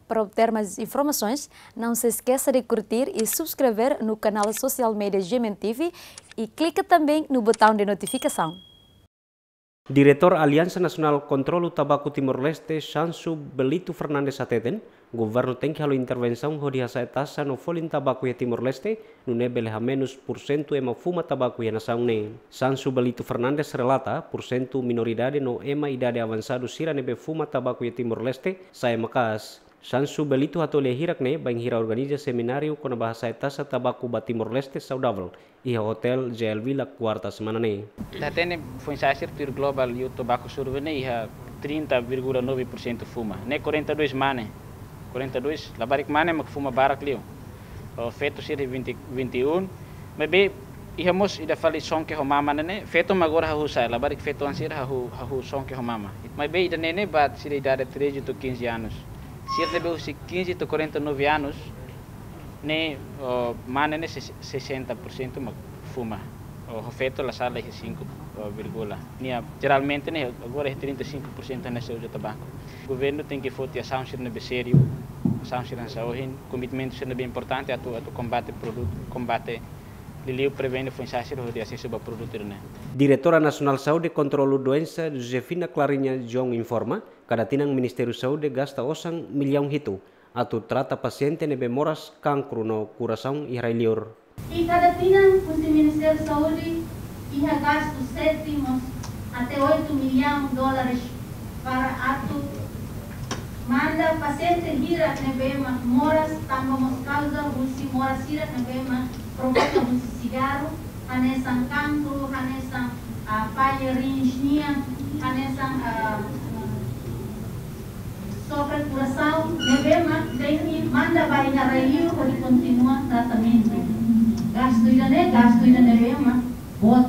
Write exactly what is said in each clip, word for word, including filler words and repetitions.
Para obter mais informações, não se esqueça de curtir e subscrever no canal social media G M N T V e clica também no botão de notificação. Diretór Aliansa Nasionál Kontrolu Tabaku Timor-Leste, Xansu Belito Fernandes hateten, governu tenke halo intervensaun hodi hasa'e taxa no folin tabaku iha Timor-Leste, nune'e bele hamenus pursentu ema fuma tabaku iha nasaun ne'e. Xansu Belito Fernandes relata, pursentu minoridade no ema idade avansadu sira ne'ebé fuma tabaku iha Timor-Leste, sa'e maka'as. Xansu Belito hato'o lia hirak ne'e bainhira organiza semináriu kona-ba hasa'e taxa tabaku ba Timor-Leste saudavel iha Hotel J L Villa, kuarta semana ne'e. Ita hatene foin-sa'e sira tuir Global Youth Tobacco Survey ne'e iha trinta vírgula nove por cento fuma. Ne'e quarenta e dois mane. Quarenta e dois, labarik mane mak fuma barak liu. O, feto sira vinte, vinte e um. Maibé iha mós ida fali sonke ho mama ne'e, feto mak agora hahú sa'e, labarik feto an sira hahú, hahú sonke ho mama. Maibé ida-ne'e ne'e ba sira idade treze to'o quinze anos. Sira ne'ebé husi quinze to'o quarenta e nove anos, ne'e, o, mane ne'e ses-, sessenta por cento mak fuma. O, ho feto la sala iha cinco, o, vírgula. Nia, jeralmente ne'e, agora é trinta e cinco por cento hanesan uza tabaku. Governu tenke foti asaun sira ne'ebé sériu, asaun sira hanesan ohin, komitmentu sira ne'ebé importante atu, atu kombate produtu, kombate liuliu prevene foin-sa'e sira hodi asesu ba produtu ne'e. Diretora Nasionál Saúde Kontrolu Doensa, Josefina Clarinha Jong informa, kada tinan Ministériu Saúde gasta osan millaun hitu atu trata pasiente ne'ebé moras kankru no kurasaun iha rai-liur. I kada tinan husi Ministériu Saúde iha gastu sete mós até oito millaun dólares para atu manda pasiente hirak ne'ebé mak moras tanba mós kauza husi moras hirak ne'ebé mak problema husi sigarru, hanesan kankru, hanesan, ah, falla rins nian, hanesan, ah, sofre kurasaun, ne'ebé mak tenke manda ba iha rai-liur hodi kontinua tratamentu. Gastu ida-ne'e, gastu ida ne'ebé mak boot.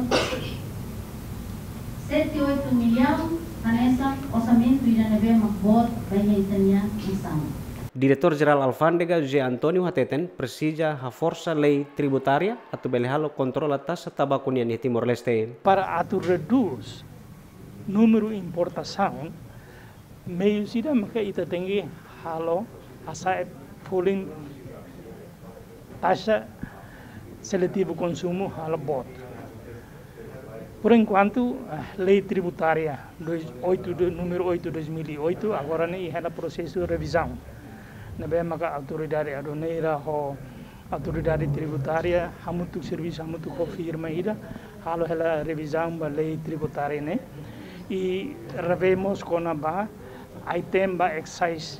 Sete, oito millaun, hanesan orsamentu ida ne'ebé mak boot ba iha ita-nia nasaun. Diretór Jerál Alfándega José António hateten presiza haforsa lei tributária atu bele halo kontrola taxa tabaku nian iha Timor-Leste. Para atu redús númeru importasaun, meius ida maka ita tenke halo hasa'e folin taxa seletivu konsumu halo boot. Por enkuantu, eh, lei tributária dois, oito de, número oito dois mil e oito, agora ne'e iha ona prosesu revizaun. Ne'ebé maka autoridade aduaneira ho autoridade tributária, hamutuk servisu, hamutuk ho firma ida, halo hela revizaun ba lei tributária ne'e. I revemos kona-ba item ba excise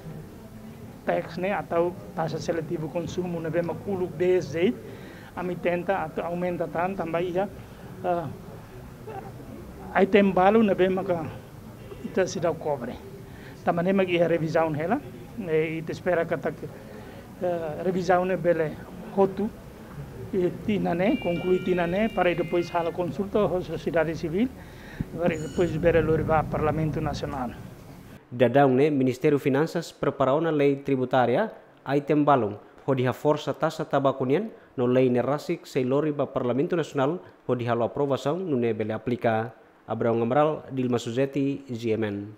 tax ne'e atau taxa seletivu konsumu ne'ebé mak uluk dezde, ami tenta atu aumenta tan tanba iha, eh, item balu ne'ebé maka ita seidauk kobre. Tanba ne'e mak iha revizaun hela, eh, ita espera katak, eh, revizaun ne'e bele hotu, eh, tinan ne'e, konklui tinan ne'e, para depois halo konsulta ho sosiedade sivíl, para depois bele lori ba Parlamentu Nasionál. Daudaun ne'e, Ministériu Finansas prepara ona lei tributária, item balun, hodi haforsa taxa tabaku nian, no lei ne'e rasik sei lori ba Parlamentu Nasionál, hodi halo aprovasaun, nune'e bele aplika. Abraão Amaral, Dilma Suzeti, G M N.